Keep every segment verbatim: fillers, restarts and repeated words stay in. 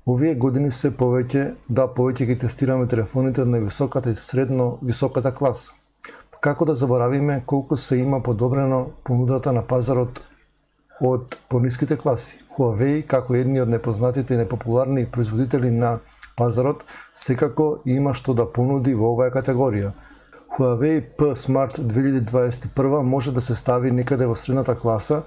Овие години се повеќе, да повеќе ги тестираме телефоните од највисоката и средно високата класа. Како да заборавиме колку се има подобрено понудата на пазарот од пониските класи. Huawei, како едни од непознатите и непопуларни производители на пазарот, секако има што да понуди во оваа категорија. Huawei P Smart две илјади дваесет и прва може да се стави некаде во средната класа,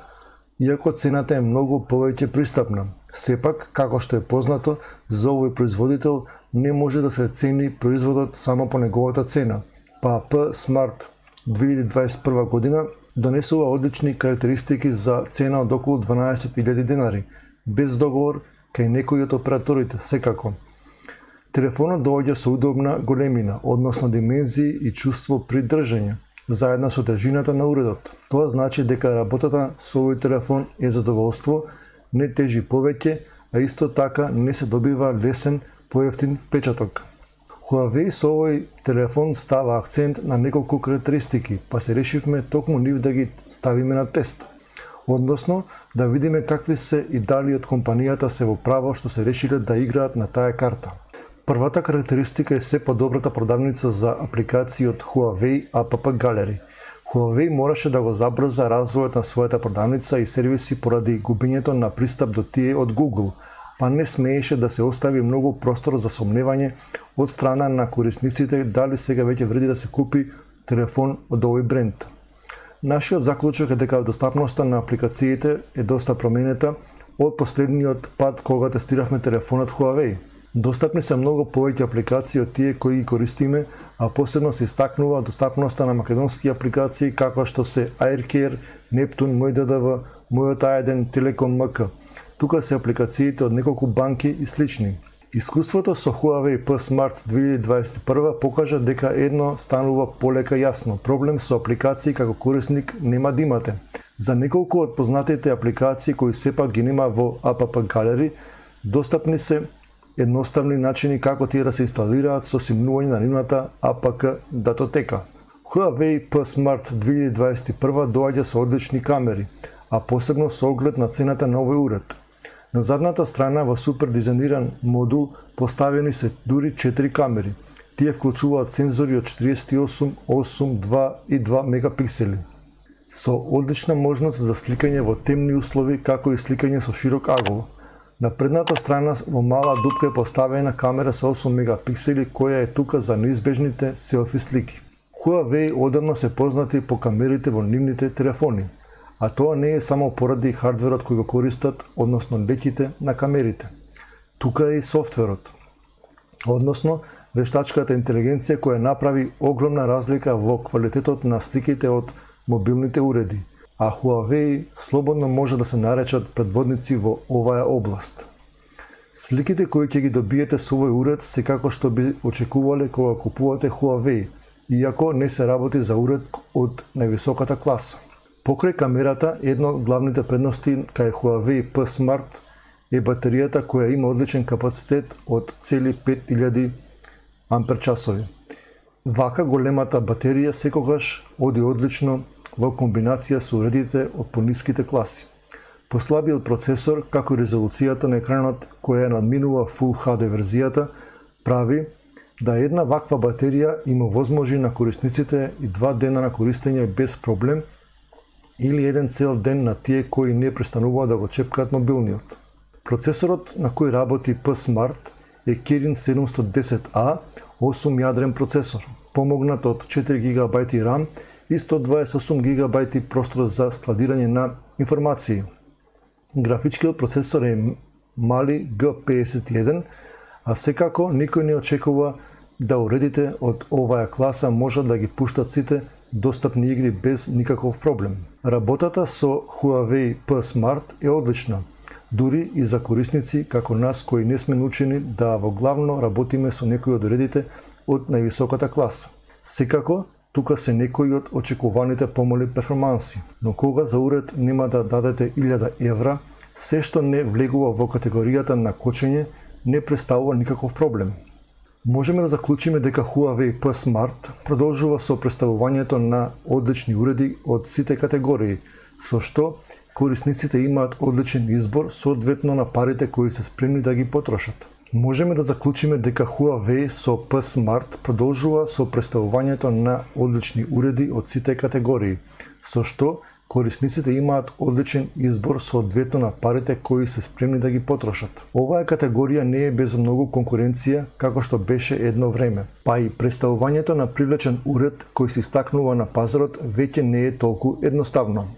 иако цената е многу повеќе пристапна. Сепак, како што е познато, за овој производител не може да се цени производот само по неговата цена, па P Smart две илјади дваесет и прва година донесува одлични карактеристики за цена од околу дванаесет илјади денари, без договор кај некои од операторите, секако. Телефонот доаѓа со удобна големина, односно димензии и чувство при држење, заедно со тежината на уредот. Тоа значи дека работата со овој телефон е задоволство, не тежи повеќе, а исто така не се добива лесен, поевтин впечаток. Huawei со овој телефон става акцент на неколку карактеристики, па се решивме токму нив да ги ставиме на тест. Односно, да видиме какви се и дали од компанијата се во право што се решиле да играат на таа карта. Првата карактеристика е се подобрата продавница за апликации од Huawei App Gallery. Huawei мораше да го забрза развојот на својата продавница и сервиси поради губењето на пристап до тие од Google, па не смееше да се остави многу простор за сомневање од страна на корисниците дали сега веќе вреди да се купи телефон од овој бренд. Нашиот заклучок е дека достапноста на апликациите е доста променета од последниот пат кога тестиравме телефонот Huawei. Достапни се многу повеќе апликации од тие кои ги користиме, а посебно се истакнува достапноста на македонски апликации како што се AirCare, Neptune, Мој Д Д В, Мојот А еден, Телеком М К. Тука се апликациите од неколку банки и слични. Искуството со Huawei P Smart две илјади дваесет и прва покажа дека едно станува полека јасно. Проблем со апликации како корисник нема да имате. За неколку од познатите апликации кои сепак ги нема во App Gallery, достапни се едноставни начини како тие да се инсталираат со симнување на нивната А П К датотека. Huawei P Smart две илјади дваесет и прва доаѓа со одлични камери, а посебно со оглед на цената на овој уред. На задната страна во супер дизајниран модул поставени се дури четири камери. Тие вклучуваат сензори од четириесет и осум, осум, два и два мегапиксели. Со одлична можност за сликање во темни услови, како и сликање со широк агол. На предната страна во мала дупка е поставена камера со осум мегапиксели која е тука за неизбежните селфи слики. Huawei одамна се познати по камерите во нивните телефони, а тоа не е само поради хардверот кој го користат, односно леќите на камерите. Тука е и софтверот, односно вештачката интелигенција која направи огромна разлика во квалитетот на сликите од мобилните уреди, а Huawei слободно може да се наречат предводници во оваа област. Сликите кои ќе ги добиете со овој уред се како што би очекувале кога купувате Huawei, иако не се работи за уред од највисоката класа. Покрај камерата, една од главните предности кај Huawei P Smart е батеријата која има одличен капацитет од цели пет илјади амперчасови. Вака големата батерија секогаш оди одлично во комбинација со уредите од пониските класи. Послабиот процесор, како и резолуцијата на екранот која надминува Full H D верзијата, прави да една ваква батерија има возможи на корисниците и два дена на користење без проблем или еден цел ден на тие кои не престануваат да го чепкаат мобилниот. Процесорот на кој работи P Smart е Kirin седумстотини и десет А, осум јадрен процесор, помогнат од четири гигабајти RAM и сто дваесет и осум гигабајти простор за складирање на информации. Графичкиот процесор е мали Г педесет и еден, а секако никој не очекува да уредите од оваа класа можат да ги пуштат сите достапни игри без никаков проблем. Работата со Huawei P Smart е одлична, дури и за корисници како нас кои не сме научени да во главно работиме со некои од уредите од највисоката класа. Секако, тука се некои од очекуваните помали перформанси, но кога за уред нема да дадете илјада евра, се што не влегува во категоријата на кочење не представува никаков проблем. Можеме да заклучиме дека Huawei P Smart продолжува со представувањето на одлични уреди од сите категории, со што корисниците имаат одличен избор соодветно на парите кои се спремни да ги потрошат. Можеме да заклучиме дека Huawei со P Smart продолжува со представувањето на одлични уреди од сите категории, со што корисниците имаат одличен избор соодветно на парите кои се спремни да ги потрошат. Оваа категорија не е без многу конкуренција како што беше едно време, па и представувањето на привлечен уред кој се истакнува на пазарот веќе не е толку едноставно.